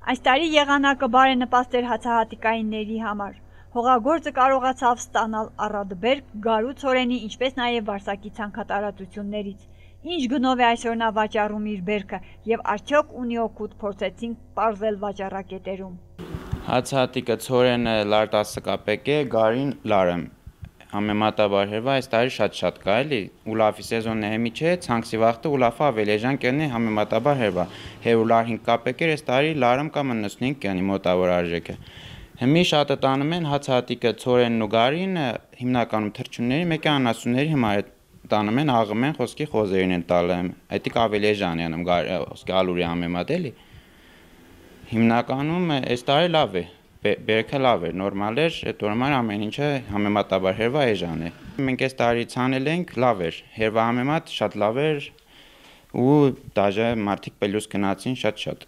Այս տարի եղանակը բարենպաստ էր հացահատիկայինների համար։ Հողագործը կարողացավ ստանալ առատբերք գարու ցորենի, ինչպես նաև վարսակի ցանքատարածություններից։ Ինչ գնով է այսօր նա վաճառում իր բերքը եւ արդյոք ունի օգուտ, փորձեցինք պարզել վաճառակետերում։ Հացահատիկը ցորենը լար 10 կապեկ է, գարին լարը։ Համեմատաբար հերվա այս տարի շատ կա էլի, ուլաֆի սեզոնն է հեմի չէ, ցանքսի վախտը ուլաֆը ավելի էժան կենի համեմատաբար հերվա։ Հերու լար 5 կապեկ էր, այս տարի լարում կամ 95 կենի մոտավոր արժեքը։ Հիմի շատը տանում են հացահատիկը ցորենն ու գարին, հիմնականում թռչունների, մեկի անասունների հիմա տանում են, աղում են, խոսքի խոզերին են տալը, այդիկ ավելի էժան են խոսքի ալուրի համեմատ էլի։ Հիմնականում այս տարի լավ է, բերքը լավ էր, նորմալ էր, այդ օրմար ամեն ինչը համեմատաբար հերվա էժան է։ Մենք այս տարի ցանել ենք, լավ էր, հերվա համեմատ շատ լավ էր ու դաժե մարդիկ պելյուս գնացին շատ։